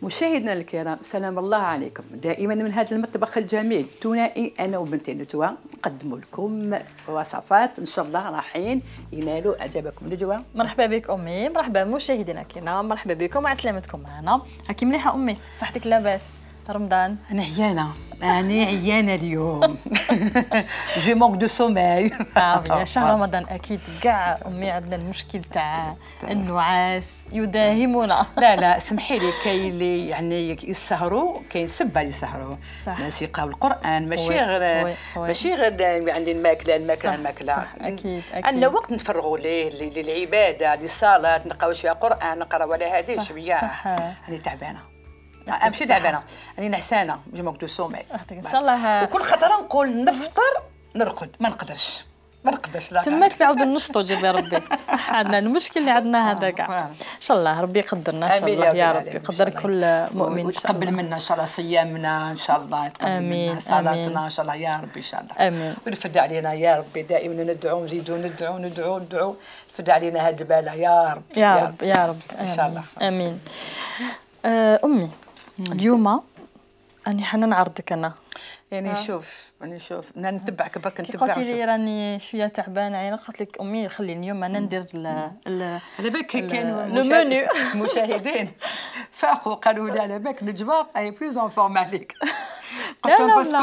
مشاهدينا الكرام، سلام الله عليكم. دائما من هذا المطبخ الجميل الثنائي انا وبنتي نجوى نقدم لكم وصفات ان شاء الله راحين ينالوا اعجابكم. نجوى مرحبا بك امي، مرحبا مشاهدينا الكرام، مرحبا بكم وعلى سلامتكم معنا. هاكي مليحه امي؟ صحتك لاباس؟ رمضان انا عيانه اليوم. جو مونك دو سوماي. شهر رمضان اكيد كاع امي عندنا المشكل تاع النعاس يداهمنا. لا سمحي لي، كاين اللي يعني يسهروا، كاين سبه اللي يسهروا، الناس يقراو القران، ماشي غير يعني الماكله. اكيد عندنا وقت نفرغوا ليه للعباده، للصلاه، نقراو شويه قران، نقراو على هذه شويه. راني تعبانه، ماشي تعبانه، راني نعسانه، جو مونك دو سوماي ان شاء الله. وكل خطره نقول نفطر نرقد، ما نقدرش لا تماك نعاودوا نشطوا جيب يا ربي. صح، عندنا المشكل اللي عندنا هذا كاع. ان شاء الله ربي يقدرنا، ان شاء الله يا ربي يقدر كل مؤمن، ويتقبل منا ان شاء الله صيامنا، ان شاء الله يتقبل منا صلاتنا ان شاء الله يا ربي، ان شاء الله امين. ويرفد علينا يا ربي، دائما ندعو، نزيدوا ندعو يرفد علينا هذه البلاء يا رب يا رب ان شاء الله. امين. امي اليوم راني حنا نعرضك انا، يعني شوف نتبعك برك، نتبع. قلتي لي راني شويه تعبانه، يعني قلت لك امي خلي اليوم انا ندير على بالك كاين لو منيو. مشاهدين فاقوا قالوا لي على بالك نجوى اي بلوز اون فورم عليك. قلت لهم باسكو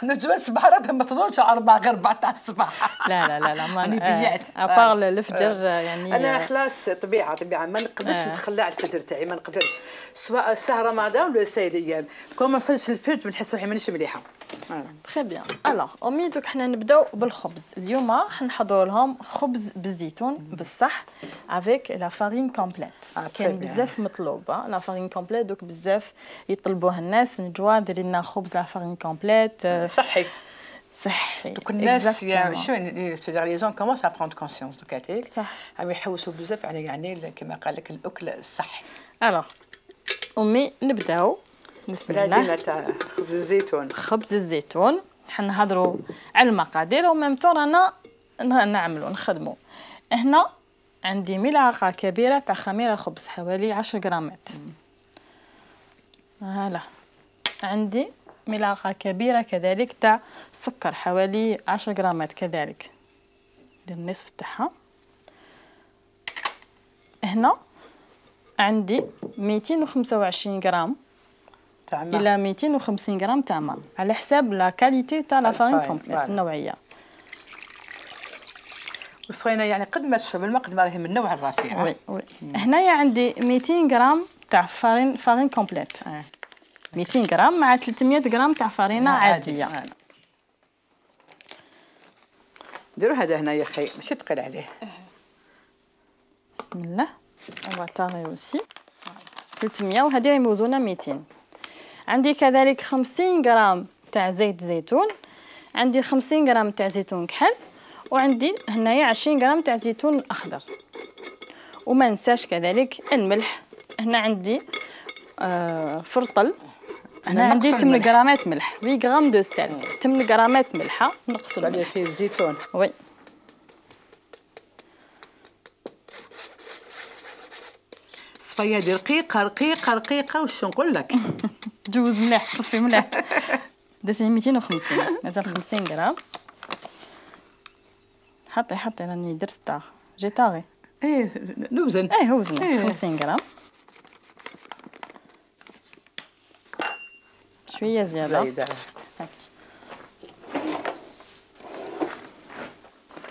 نجوى الصباح راه ما تفضلش 4 غير 4 تاع الصباح. لا راني بيعت ابار الفجر يعني. انا خلاص طبيعه ما نقدرش نتخلى على الفجر تاعي، ما نقدرش، سواء شهر رمضان ولا سايليان، كون ما وصلش الفجر بنحس روحي مانيش مليحه. تري بيان. الوغ امي دوك حنا نبداو بالخبز. اليوم حنحضروا لهم خبز بالزيتون بالصح افيك لا فارين كومبليت. كاين بزاف مطلوب لا فارين كومبليت، دوك بزاف يطلبوها الناس. نجوى ديري لنا خبز لا فارين كومبليت صحي. دوك الناس شو لي جون كومونس ا بروندر كونسيونس دوكاتيك، صح، عم يحوسوا بزاف يعني كما قال لك الاكل الصحي. الوغ امي نبداو بسم الله. تاع خبز الزيتون. خبز الزيتون حنهضروا على المقادير وميم طون رانا نعملوا نخدموا. هنا عندي ملعقه كبيره تاع خميره خبز حوالي 10 غرامات. هلا عندي ملعقه كبيره كذلك تاع سكر حوالي 10 غرامات كذلك، ندير النصف تاعها. هنا عندي 225 غرام الى 250 غرام تاع ماء على حساب لا كاليتي تاع لا فارين كومبليت، النوعيه. والفرينه يعني قد ما تشرب الماء قد ما راهي من النوع الرفيع. وي هنايا عندي 200 غرام تاع فارين كومبليت. 200 غرام مع 300 غرام تاع فارينه عاديه. نديروا هذا هنايا خي ماشي ثقيل عليه. بسم الله. اون طاغي اوسي 300 وهذه موزونه 200. عندي كذلك 50 غرام تاع زيت زيتون، عندي 50 غرام تاع زيتون كحل، وعندي هنايا 20 غرام تاع زيتون اخضر. وما ننساش كذلك الملح. هنا عندي فرطل، هنا عندي 8 غرامات ملح، 8 غرام دو سيل، 8 غرامات ملحه نقصوا عليه فيه الزيتون. وي صفيه ديال رقيقه واش نقول لك. جوز مليح، صفي مليح. درتي 250، مازال 50 غرام. حطي راني درت طاغ جي طاغي. نوزن. وزن 50 غرام، شويه زياده.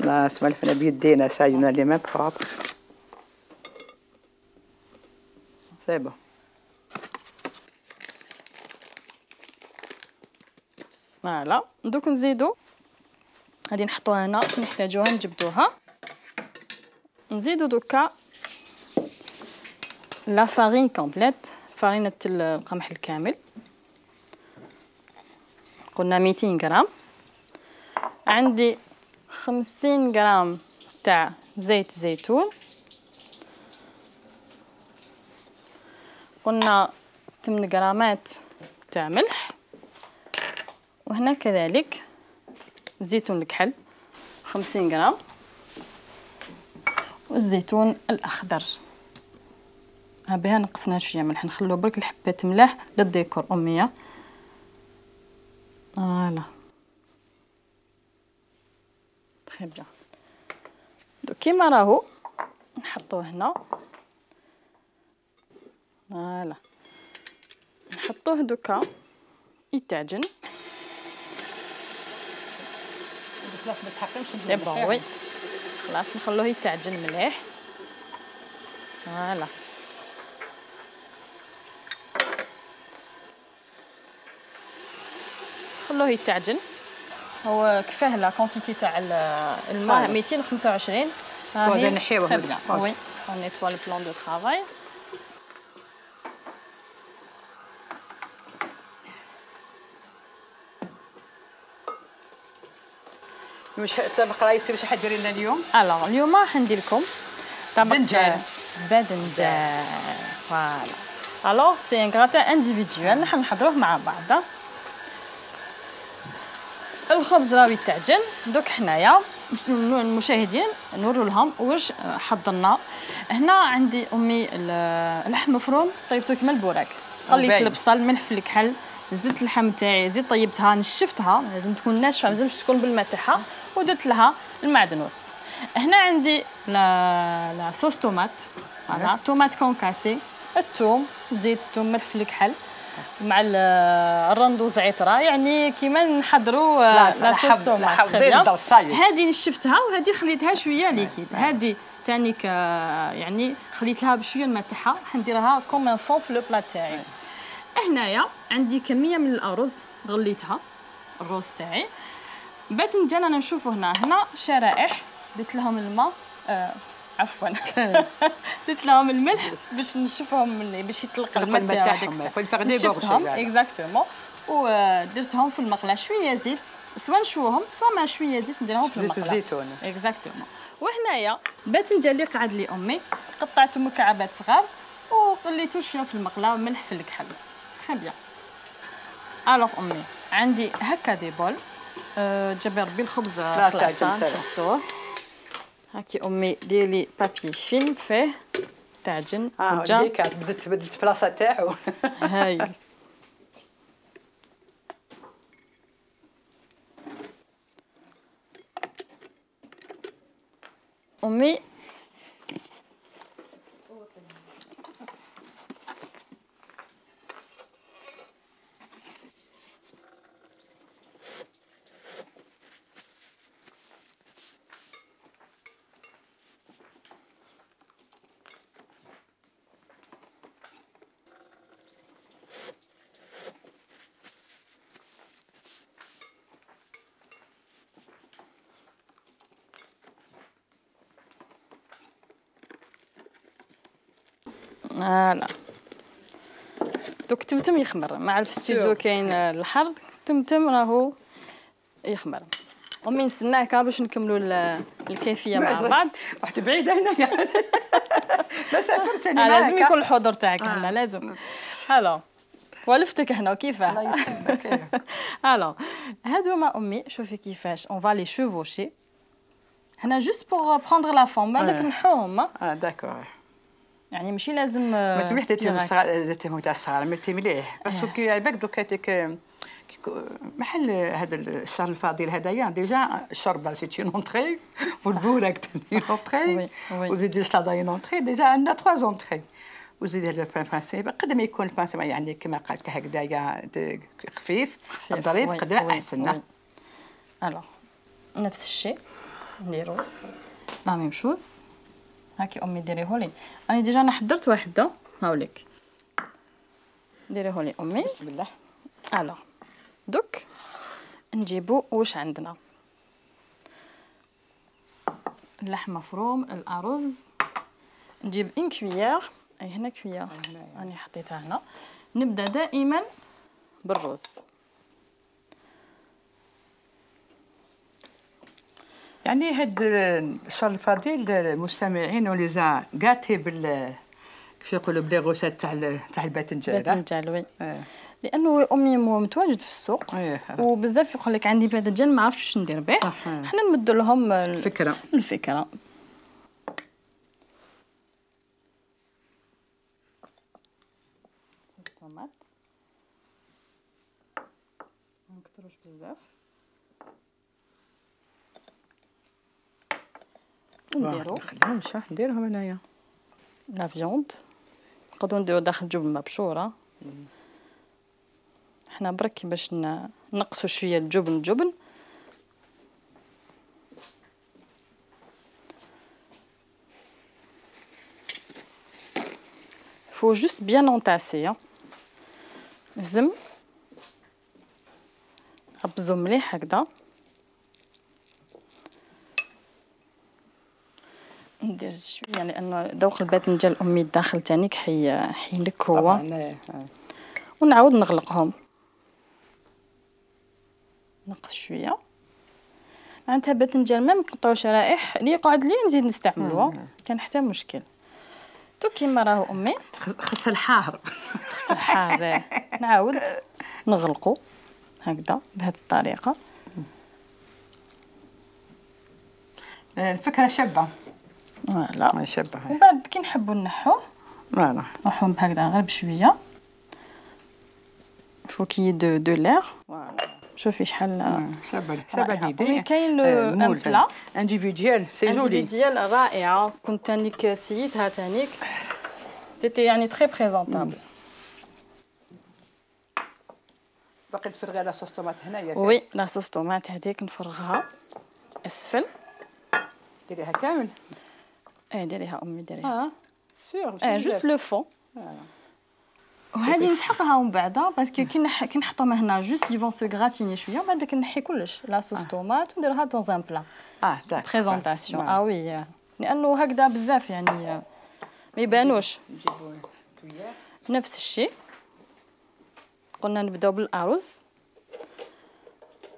لا سمعنا بيدينا ساينا لي ميم بروبر. سي بون. فوالا دوك نزيدو، غادي نحطوها هنا، نحتاجوها نجبدوها. نزيدو دوكا لا فارين كومبليت، فارينة القمح الكامل، قلنا 200 غرام. عندي 50 غرام تاع زيت زيتون، قلنا 8 غرامات تاع ملح، وهنا كذلك زيتون الكحل 50 غرام، والزيتون الأخضر ها بها نقصنا شويه ملح، نخلو برك الحبات ملاح للديكور اميه. فوالا تري بيان. دوك كيما راهو نحطوه هنا. فوالا نحطوه دوكا يتعجن. سي بون وي خلاص نخلوه يتعجن مليح. فوالا خلوه يتعجن. هو كفاه لا كونتيتي تاع الماء 225. ها هي نحيوه وي اون نيتوا لو بلان دو طرافاي. واش طبق رايسي واش حديري لنا اليوم؟ الوغ اليوم راح ندير لكم طبق باذنجان. فوالا الوغ سي ان غراتان انديفيدوال راح نحضروه مع بعض. الخبز راهو يتعجن. دوك حنايا المشاهدين نورو لهم واش حضرنا. هنا عندي امي اللحم مفروم طيبته كيما البوراك. خليت البصل ملح في الكحل، زدت اللحم تاعي، زيد طيبتها نشفتها، لازم تكون ناشفه مازالش تكون بالماء تاعها، ودرت لها المعدنوس. هنا عندي لا صوص طوماط. فوالا طوماط كونكاسي، الثوم، زيت الثوم ملح في الكحل مع الرندو زعتره، يعني كيما نحضروا لا صوص طوماط. هذه نشفتها وهذه خليتها شويه ليكيد. هذه ثاني يعني خليت لها بشويه الماء تاعها، راح نديرها كوم ان فون في لو بلا تاعي. هنايا عندي كميه من الارز غليتها، الرز تاعي. باذنجان انا نشوفوا هنا شرائح، درت لهم الماء عفوا درت لهم الملح باش نشوفهم باش يطلق الماء تاعهم. شفتهم اكزاكتومون ودرتهم في المقله. شويه زيت، سواء نشوهم سواء مع شويه زيت نديرهم في المقله. زيت الزيتون اكزاكتومون. وهنايا باذنجان اللي قعد لي امي قطعته مكعبات صغار وقليته شويه في المقله وملح في الكحل. تري بيان. الوغ امي عندي هكا دي بول. جابي ربي الخبز طلع نحصوه. هاكي امي ديري بابي فيلم فيه تعجن. هايل بدلت بلاصه تاعو. هايل. امي فوالا دوك تمتم يخمر. ما عرف ستيجو كاين الحر، تمتم راهو يخمر. امي نستناك باش نكملوا الكيفيه مع بعض. رحت بعيده هنايا. ما سافرتش انا معاك. لازم يكون الحضور تاعك هنا لازم. الو ولفتك هنا وكيفاه. الله يسلمك. الو هادوما امي شوفي كيفاش اون فالي شوفوشي. هنا جوست بوغ بروندر لا فورم بعدك نحوهم. داكور. يعني ماشي لازم ما تمليح درتيهم تاع الصغار ملتي مليح باسكو كي عباك دوك هذيك محل هذا الشهر الفاضل هذايا ديجا الشوربه سيتي اونطري والبوراك سيتي اونطري وزيدي سلاطه اونطري. ديجا عندنا 3 اونطري وزيدي هذا البان فرنسي. قد ما يكون البان يعني كما قالت هكذايا خفيف ظريف قد ما احسن. الوغ نفس الشيء نديرو لا ميم شوز. هاكي امي ديريهولي. انا ديجا انا حضرت واحده هاوليك ديريهولي امي. بسم الله. الوغ دوك نجيبو واش عندنا. اللحم مفروم، الارز. نجيب ان كويير. اي هنا كويير راني حطيتها هنا. نبدا دائما بالرز. يعني هاد الشهر الفضيل المستمعين وليزا قاتي بال كيف يقولوا بلي غوسات تاع الباذنجان. وي. لانه امي متواجد في السوق وبزاف يقول لك عندي باذنجان ما عرفتش ندير به. حنا نمدوا لهم الفكره. طوماط منكتروش بزاف نديرو نخليهم شحال نديرهم انايا لا فيوند نقدروا نديرو داخل جبن مبشوره حنا برك باش نقصوا شويه الجبن faut juste bien entasser لازم نخبزو مليح هكذا ندير شويه لانه ذوق الباذنجان الامي الداخل تانيك حيلك هو ونعاود نغلقهم نقص شويه معناتها باذنجان ما نقطعو شرائح اللي يقعد لي نزيد نستعملوها كان حتى مشكل تو كيما راهو امي خص الحار نعاود نغلقو هكذا بهذه الطريقه الفكره شابه فوالا شابه ومن بعد كي نحبوا نحوه فوالا نحوهم هكذا غير بشويه فوكي دو لير فوالا شوفي شحال شابه ليدي كاين لو بلا انديفيديال سي جولي انديفيديال رائعه كنت تانيك سيتها تانيك سيتي يعني تري بريزونطابل باقي تفرغي لا صوص طوماط هنايا وي لا صوص طوماط هذيك نفرغها اسفل ديريها كامل ديريها امي ديريها سيغ جوست لو فون وهذه نسحقها ومن بعد باسكو كي نحطهم هنا جوست يفون سو غراتيني شويه ومن بعد نحي كلش لا صوص طوماط ونديرها دون ان بلا داك بريزونطاسيون وي لانه هكذا بزاف يعني ما يبانوش نفس الشيء قلنا نبداو بالارز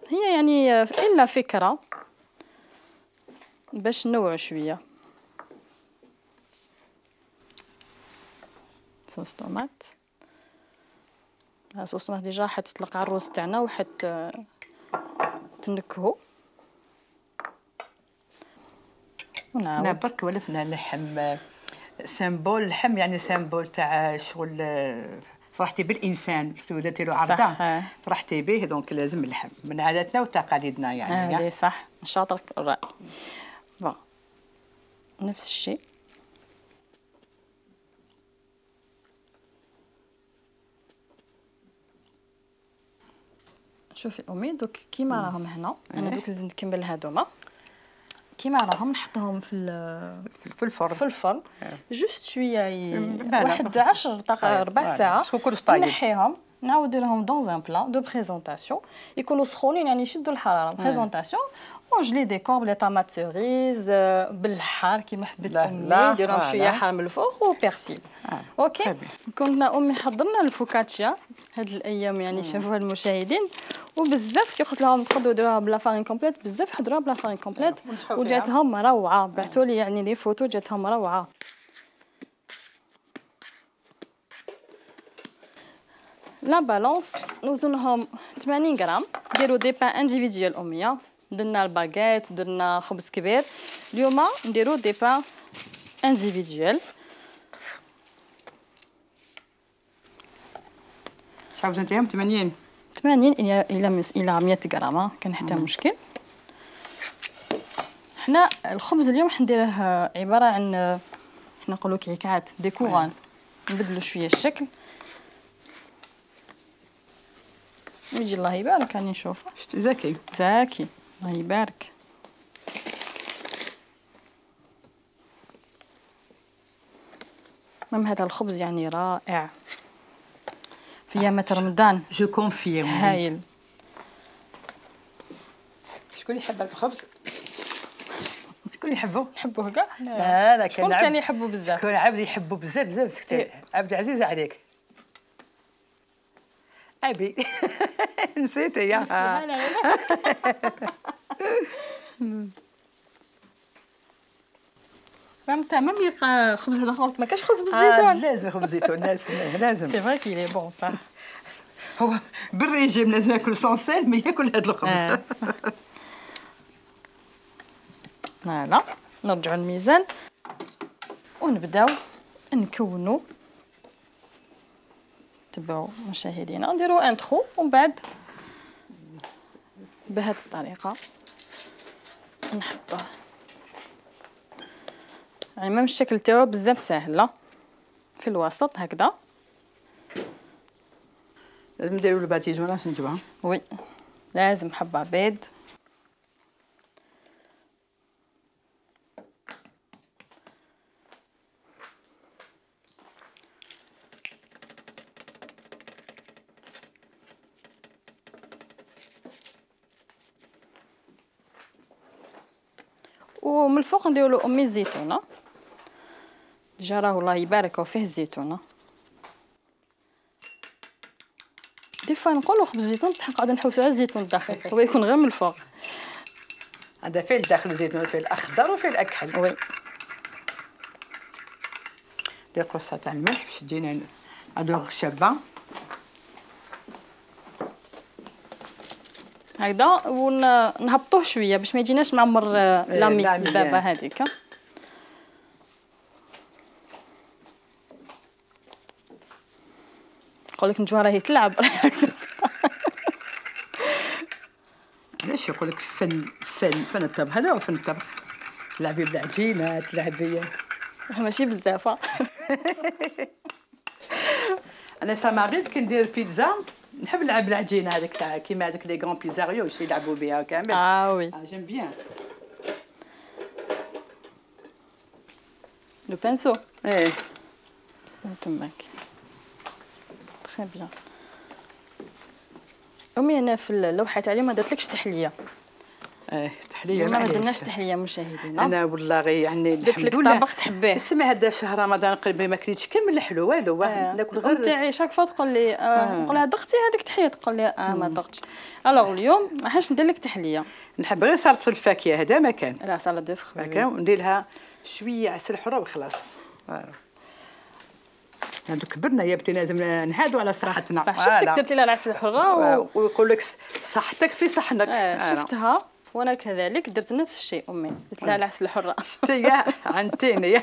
هي يعني الا فكره باش نوعوا شويه صوص طوماط صوص طوماط ديجا حتطلق على الروز تاعنا وحت تنكهو ونعاود انا برك ولفنا اللحم سيمبول اللحم يعني سيمبول تاع شغل فرحتي بالانسان سولتي له عرضه فرحتي به دونك لازم اللحم من عاداتنا وتقاليدنا يعني هذه صح شاطرك الراي بون نفس الشيء شوفي امي دوك كيما راهم هنا انا دوك نزيد نكمل هذوما كيما راهم نحطهم في الفرن جوست شويه واحد 10 دقائق ربع ساعه نحيهم نعاود لهم دون ان بلا دو بريزونطاسيون يكونوا سخونين يعني يشدوا الحراره بريزونطاسيون ونجلي ديكور بلي طاماط سوريز بالحار كيما حبيت امي نديرهم شويه حار من الفوق وبيرسيل اوكي كنا امي حضرنا الفوكاتشيا هاد الايام يعني شافوها المشاهدين وبزاف كي قلت لهم تقدروا ديروها بلا فارين كومبليت بزاف حضروها بلا فارين كومبليت وجاتهم روعه بعثوا لي يعني لي فوتو جاتهم روعه لا بالونس نوزنهم 80 غرام نديرو دي بان انديفيديوال اميه درنا الباغيت درنا خبز كبير اليوم نديرو دي بان انديفيديوال شحال وزنتيهم 80 الى 100 غرام كان حتى مشكل حنا الخبز اليوم حنديره عباره عن حنا نقولوا كيكات ديكوران نبدلوا شويه الشكل يجي الله يبارك راني نشوفه زكي الله يبارك هذا الخبز يعني رائع في ايام رمضان جو كونفيرم هايل شكون يحب الخبز شكون يحبو نحبوه كاع لا شكون كان يحبو بزاف كون عبد يحبو بزاف سكتي عبد عزيز عليك ابي نسيت يا فهمت ما يلقى خبز هذا خالك ما كاش خبز بالزيتون لازم خبز زيتون لازم سي فري كي لي بون صح هو بالريجيم لازم ياكل سونسيل مي ياكل هذا الخبز فوالا نرجعوا للميزان ونبداو نكونوا تبعوا مشاهدينا نديروا انترو ومن بعد بهذه الطريقه نحطوه. يعني ميم الشكل تاعو بزاف ساهل في الوسط هكذا. لازم نديروا الباتيجونه باش نجيبوها. وي لازم حبه بيض. ومن الفوق نديروا له امي الزيتونه. ديجا راه الله يبارك فيه الزيتونه. دي فوا نقولوا خبز بزيتون بصح نقعدوا نحوسوا على الزيتون الداخل هو يكون غير من الفوق. هذا فيه الداخل الزيتون، فيه الاخضر وفيه الاكحل. وي ندير قرصه تاع الملح باش تجينا ادوغ شابه هكذا، ونهبطوه شويه باش ما يجيناش معمر لامي الدابه هذيك. نقول لك نجوى راهي تلعب. علاش يقول لك فن الطبخ، هذا هو فن الطبخ. تلعبي بالعجينه، تلعبي ماشي بزاف. انا ساماريف كي ندير بيتزا نحب نلعب بالعجينه هذيك تاع كيما هذوك لي غون بيزاريو واش يلعبوا بها كامل. وي جيم بيان لو بانسو. ايه تماك تري بيان. امي انا في اللوحه تاعي ما درتلكش تحليه. تحليه ما درناش تحليه مشاهدينا. انا والله غير يعني درت لك طبق تحبيه. اسمع هذا شهر رمضان قريب ما كليتش كامل الحلو والو ناكل غير تاعي شاك فوا تقول لي نقول لها ضغتي هذيك تحيه تقول لي ما ضغطش. الوغ اليوم ما حاش ندير لك تحليه. نحب غير سلطه الفاكهه هذا ما كان. لا سلطه دو فخ هكا وندير لها شويه عسل حره وخلاص. هادو كبرنا يا بنتي لازم نهادوا على صحتنا. صح شفتك درتي لها العسل الحره ويقول لك صحتك في صحنك. شفتها وانا كذلك درت نفس الشيء. امي درت لها العسل الحره. شتي عنتيني.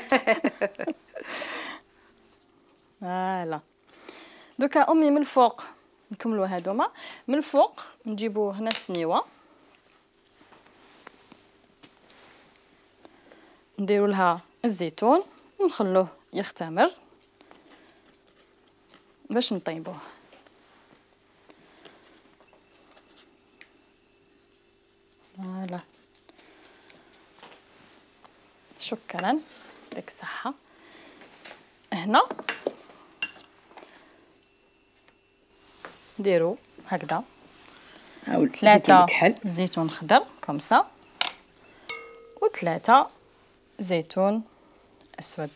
فوالا دوكا امي من الفوق نكملوا هذوما. من الفوق نجيبوا هنا سنيوه نديروا لها الزيتون ونخلوه يختمر باش نطيبوه. فوالا شكرا يعطيك الصحه. هنا نديرو هكذا 3 زيتون خضر كومسا و3 زيتون اسود.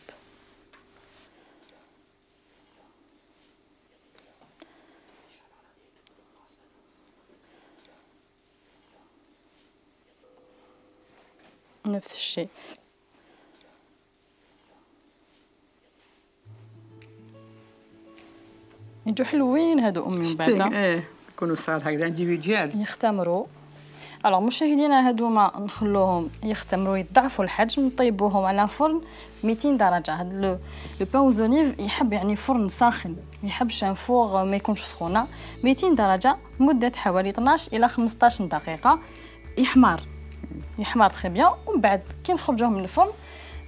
نفس الشيء. يجوا حلوين هادو امي من بعد. يكونوا صغار هكذا انديفيديوال يختمروا. الوغ مشاهدينا هادوما نخلوهم يختمروا يضعفوا الحجم نطيبوهم على فرن 200 درجه. هاد لو بان زونيف يحب يعني فرن ساخن، ما يحبش ان فوغ ما يكونش سخونه. 200 درجه مده حوالي 12 الى 15 دقيقه يحمر تري بيان. ومن بعد كي نخرجوه من الفرن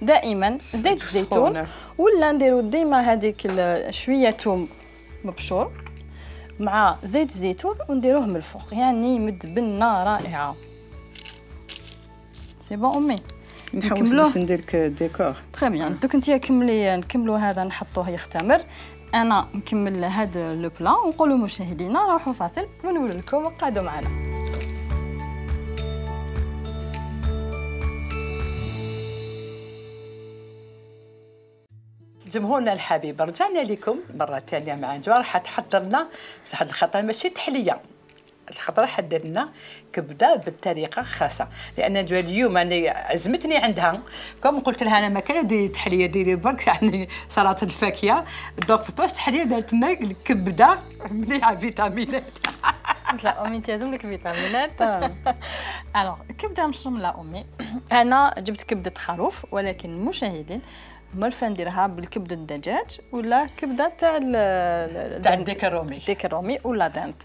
دائما زيت الزيتون ولا نديرو ديما هذيك شويه ثوم مبشور مع زيت الزيتون ونديروه من الفوق يعني مدبنه رائعه. سي بون امي نكملوه باش ندير لك ديكور. تري بيان دوك انتيا كملي نكملوا هذا نحطوه يختمر. انا نكمل هذا لو بلا ونقولوا مشاهدينا روحوا فاصل ونولوا لكم وقعدوا معنا. جمهورنا الحبيب رجعنا لكم مرة ثانية مع نجوى راح تحضر لنا بواحد الخطرة ماشي تحلية. الخطرة حدد لنا كبدة بالطريقة خاصة لأن نجوى اليوم أنا عزمتني عندها كم قلت لها أنا ما كان ديري تحلية ديري برك يعني سلطة الفاكهة دوك في باش تحلية درت لنا الكبدة مليحة فيتامينات. لا امي انت لازم لك فيتامينات. الوغ كبده مشمله امي. انا جبت كبده خروف ولكن المشاهدين مرفه نديرها بالكبده الدجاج ولا كبده تاع الديك الرومي. الديك الرومي ولا دانت.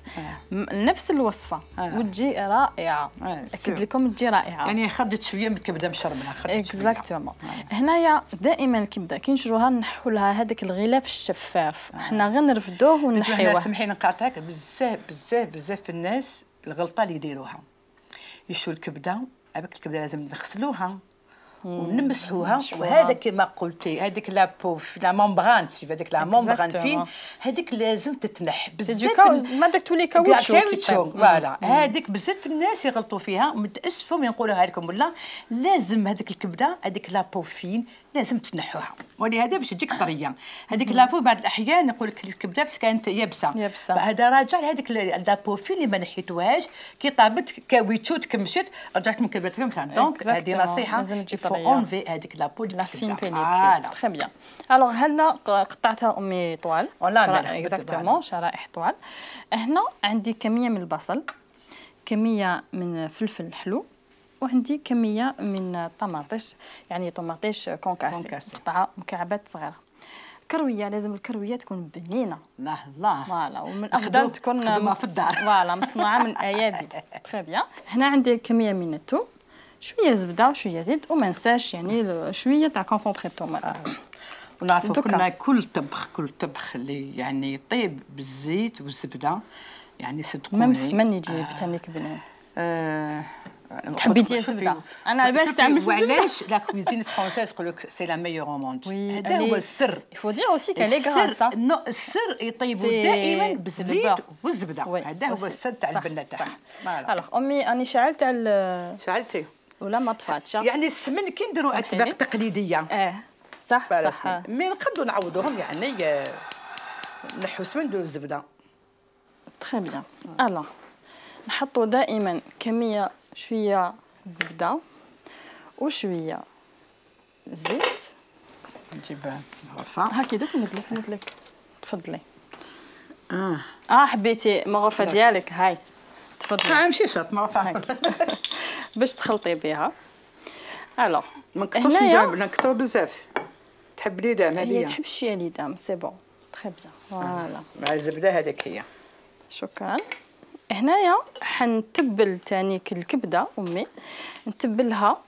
نفس الوصفه وتجي رائعه. اكيد لكم تجي رائعه. يعني خدت شويه من الكبده مشربنها، خدت شويه. اكزاكتومون. هنايا دائما الكبده كي نشروها نحوا لها هذاك الغلاف الشفاف، حنا غير نرفدوه ونحيوه. سمحي نقاطعك، بزاف بزاف بزاف الناس الغلطه اللي يديروها يشوا الكبده، هذيك الكبده لازم نغسلوها ونمسحوها، وهذا كما قلتي هذيك لابو لا ممبران، سي هذيك لا ممبران فين هذيك لازم تتنح بزاف. ما داك تولي كاوتشو فوالا. هذيك بزاف الناس يغلطوا فيها، متاسفه نقولها لكم ولا لازم هذيك الكبده هذيك لابو فين لازم تنحوها، ولهذا باش تجيك طريه. هذيك لابو بعض الاحيان يقول لك الكبده بس كانت يابسه، هذا راجع لهذيك لابو فين اللي ما نحيتوهاش، كي طابت كاويتشو تكمشت رجعت من كبدتهم تاع. دونك هذه نصيحه لازم تجي طريه. اونفي هذيك لابو لا فين بيليكير. تري بيان. الوغ هنا قطعتها امي طوال، اكزاكتومون شرائح طوال. هنا عندي كميه من البصل، كميه من فلفل حلو، وعندي كميه من الطماطيش، يعني طماطيش كونكاسي قطعه مكعبات صغيره. كرويه، لازم الكرويه تكون بنينه. الله فوالا، ومن الافضل تكون في الدار. فوالا مصنوعه من ايادي. تري بيان. هنا عندي كميه من الثوم، شويه زبده وشويه زيت، وما نساش يعني شويه تاع كونسونطري الطوماط. ونعرفوا كنا كل طبخ اللي يعني يطيب بالزيت والزبده يعني صدقوني ميم السمن يجي تانيك بنين. تحبي ديال الزبده؟ انا علاش تعمل الزبده؟ وعلاش لا كوزين فرونسيز يقول لك سي لا ميور او موند. هذا هو السر. يفو دير اوسي كالي غراسه. السر يطيبوا دائما بالزيت والزبده. هذا هو السر تاع البنه تاعها. الوغ امي اني شعلت على شعلتي ولا ما طفاتش. يعني السمن كي نديروا اطباق تقليديه. صح صح. مي نقدروا نعوضوهم يعني نحو السمن نديروا الزبده. تري بيان. الوغ نحطوا دائما كميه شويه زبده وشويه زيت. نجيب غرفه هاكي دوك ندلك تفضلي. حبيتي مغرفه ديالك هاي تفضلي. ماشي شرط مغرفه باش تخلطي بها. الوغ ما نكثرش نكثروا بزاف. تحب ليدام هذه؟ هي تحب شويه ليدام سي بون. تري بيان. فوالا مع الزبده هذيك هي. شكرا. هنايا حنتبل تانيك الكبده امي، نتبلها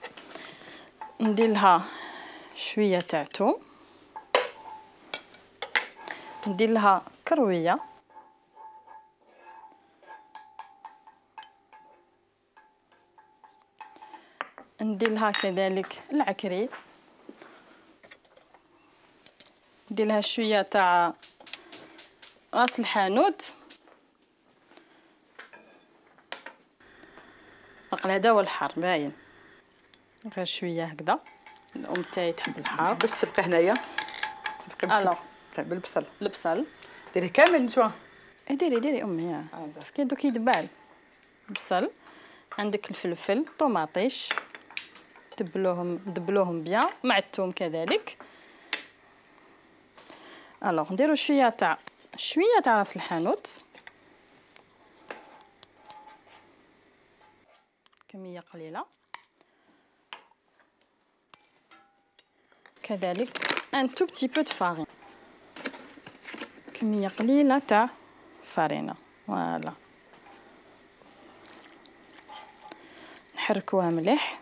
ندير لها شويه تاع ثوم، ندير لها كرويه، ندير لها كذلك العكري، ندير لها شويه تاع راس الحانوت. عقل هذا هو الحار باين، غير شويه هكذا. الام تاعي تحب الحار. باش تبقى هنايا الوغ بالبصل. البصل ديري كامل نتوما. ديري امي باسكو دوك يدبال. بصل، عندك الفلفل، طوماطيش، دبلوهم بيان مع الثوم كذلك. الوغ نديرو شويه تاع راس الحانوت، كميه قليله، كذلك ان تو بتي بو دو فارين، كميه قليله تاع فارينه. فوالا نحركوها مليح.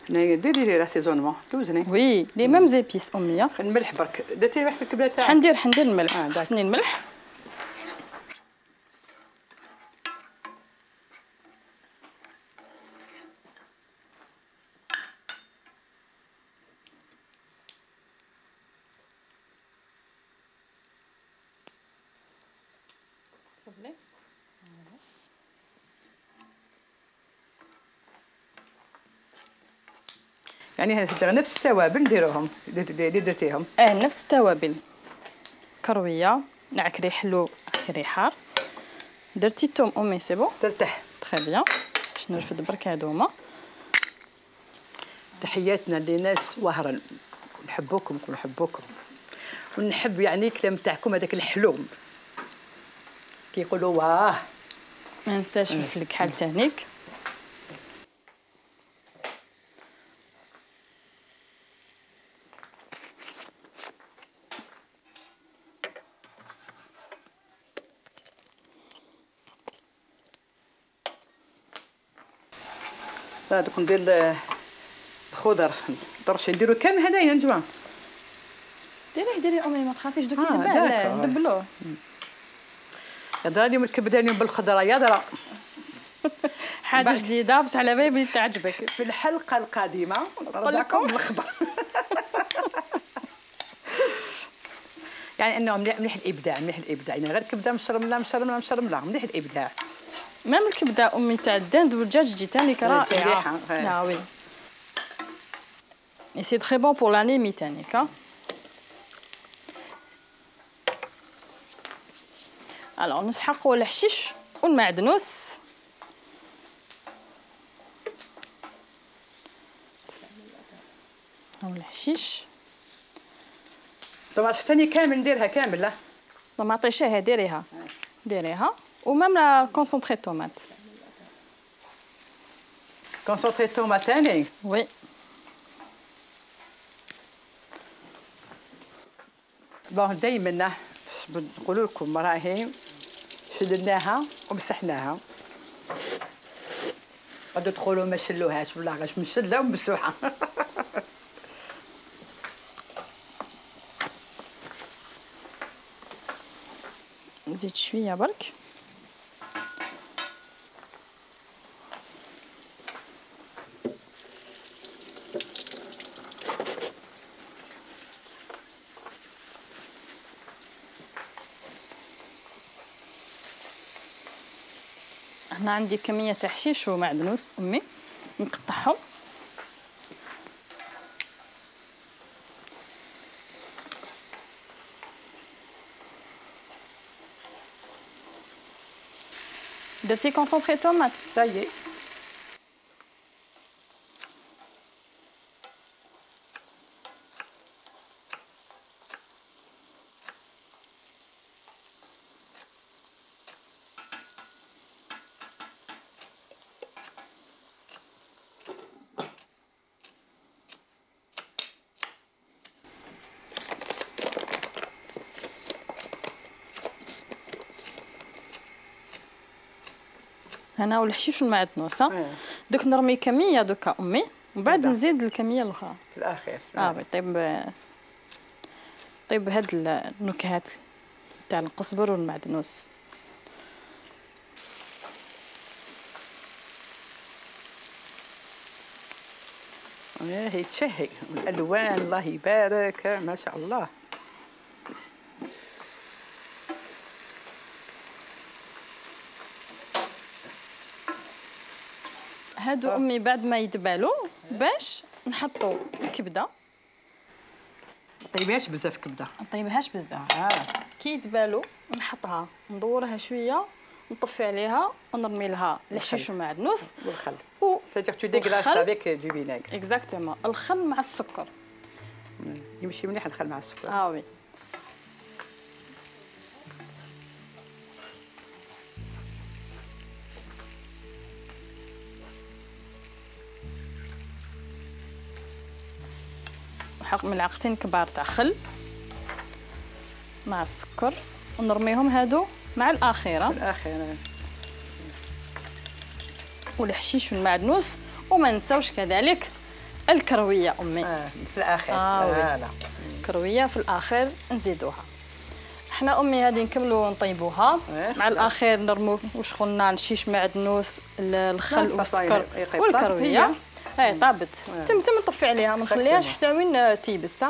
ديري لي لاسيزونمون توزني. وي لي ميم زيبيس اميه. الملح برك درتي الملح في الكبده تاعك؟ حندير الملح. خصني الملح. يعني هذا نفس التوابل نديروهم اللي درتيهم؟ نفس التوابل. كرويه، نعكري حلو، نعكري حار. درتي الثوم امي سي بون؟ ترتاح. تري بيان. باش نرفد برك هادوما. تحياتنا لناس وهرا، نحبوكم ونحب يعني الكلام تاعكم هذاك الحلو كيقولوا واه. ما ننساش فلفل الكحل تانيك. دوك ندير الخضر درشي نديرو كامل هدايا نجوان. ديري امي ما تخافيش دوك دابا ندبلوه. هضره اليوم الكبده اليوم بالخضره يا درا. حاجه جديده بس على بالي تعجبك. في الحلقه القادمه نقول لكم بالخضر. يعني انه مليح الابداع يعني غير كبده مشرمله مليح الابداع. ميم الكبده امي تاع الدند والدجاج جيتاني رائعه. لا وي et c'est très bon pour l'anémie تانيك. الوغ نسحقوا الحشيش والمعدنوس. هاو الحشيش طبعا ثاني كامل نديرها كامل. لا ما عطيشيها ديريها ومام لا كونسونطري طوماط. كونسونطري طوماط ثاني وي. بون دائما نقولوا لكم راهي شدناها ومسحناها. غادي تقولوا ما شلوهاش ولا غاش مشله ومسوحه. نزيد شويه برك. هنا عندي كميه تاع حشيش ومعدنوس امي نقطعهم. درتي كونسونطري طوماط سايي. هنا والحشيش والمعدنوس. دوك نرمي كميه دوكا امي ومن بعد نزيد الكميه الاخرى في الاخير. طيب هاد النكهات تاع القزبر والمعدنوس. هي تشهي الالوان الله يبارك ما شاء الله. هادو امي بعد ما يدبالوا باش نحطوا الكبده. طيبهاش بزاف كبده. نطيبهاش بزاف. كي يدبالوا نحطها ندورها شويه نطفي عليها ونرمي لها الحشيش والمعدنوس والخل. c'est-à-dire tu déglaces avec du vinaigre. اكزاكتومون. الخل مع السكر. يمشي مليح الخل مع السكر. وي. نحط ملعقتين كبار تاع خل مع السكر ونرميهم هادو مع الاخيره. والحشيش والمعدنوس وما نساوش كذلك الكرويه امي. في الاخير. لا كرويه في الاخير نزيدوها. احنا امي هذه نكملوا نطيبوها مع الاخير نرمو واش قلنا الشيش معدنوس الخل والسكر والكرويه. طابت تم نطفي عليها ما نخليهاش حتى وين تيبس.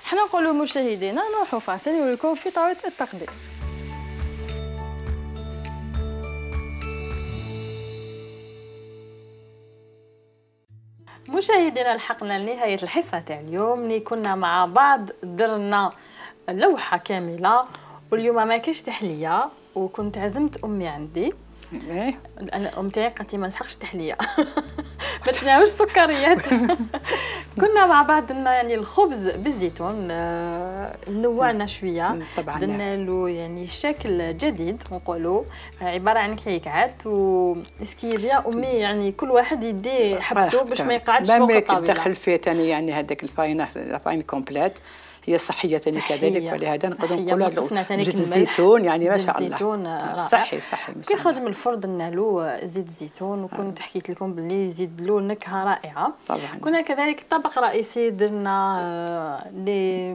حنا نقولوا مشاهدينا نروحوا فاصل ونوليكم في طاوله التقديم. مشاهدينا لحقنا لنهايه الحصه تاع اليوم اللي كنا مع بعض درنا لوحه كامله واليوم ما كاينش تحليه وكنت عزمت امي عندي. انا ام تاعي قالت لي ما نسحقش تحليه ما تناولش سكريات. كنا مع بعض درنا يعني الخبز بالزيتون نوعنا شويه درنا له يعني شكل جديد نقولوا عباره عن كعكات وسكيبيا امي يعني كل واحد يدي حبته باش ما يقعدش فوق الطاوله. دخل فيه ثاني يعني هذاك الفاين كومبليت هي صحيه ثاني كذلك، ولهذا نقدروا نقولوا زيت الزيتون يعني ما شاء الله الزيتون رائع صحي كي خرج من الفرن درنا له زيت الزيتون، وكنت حكيت لكم باللي يزيد له نكهه رائعه. طبعا كنا كذلك طبق رئيسي درنا لي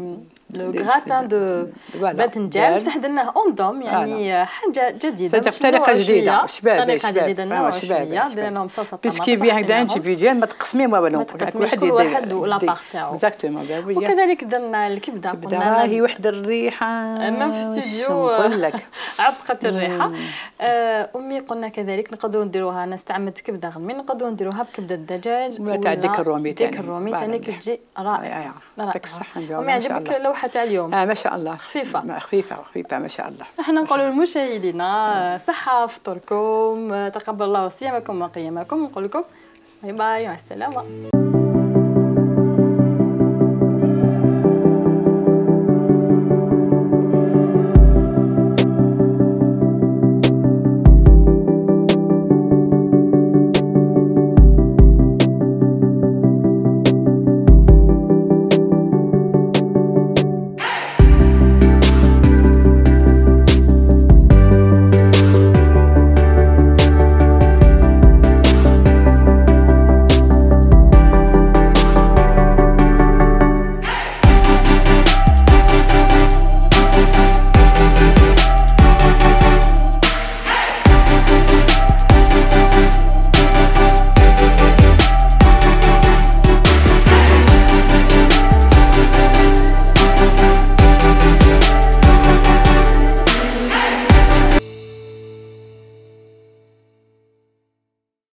لو غراتان دو باذنجان، بصح درناه اوندوم يعني حاجه جديده، طريقه جديده شباب شويه درنا لهم صلصه طماطم بيسكي بيان هكذا انديفيديوال ما تقسمي ما والو، كل واحد ولاباغ تاعو اكزاكتومون. وكذلك درنا الكبده، قلنا راهي وحده الريحه امام في الاستوديو نقول لك عبقت الريحه. امي قلنا كذلك نقدروا نديروها، انا استعملت كبده غنمي، نقدروا نديروها بكبده الدجاج ولا تاع ديك الرومي ثاني، ديك الرومي ثاني كتجي رائعه. يعطيك الصحه. امي عجبك اللوحه تاع اليوم؟ ما شاء الله خفيفه خفيفه ما شاء الله. احنا نقولوا للمشاهدين صحه فطوركم، تقبل الله صيامكم وقيامكم، نقول لكم باي باي مع السلامه.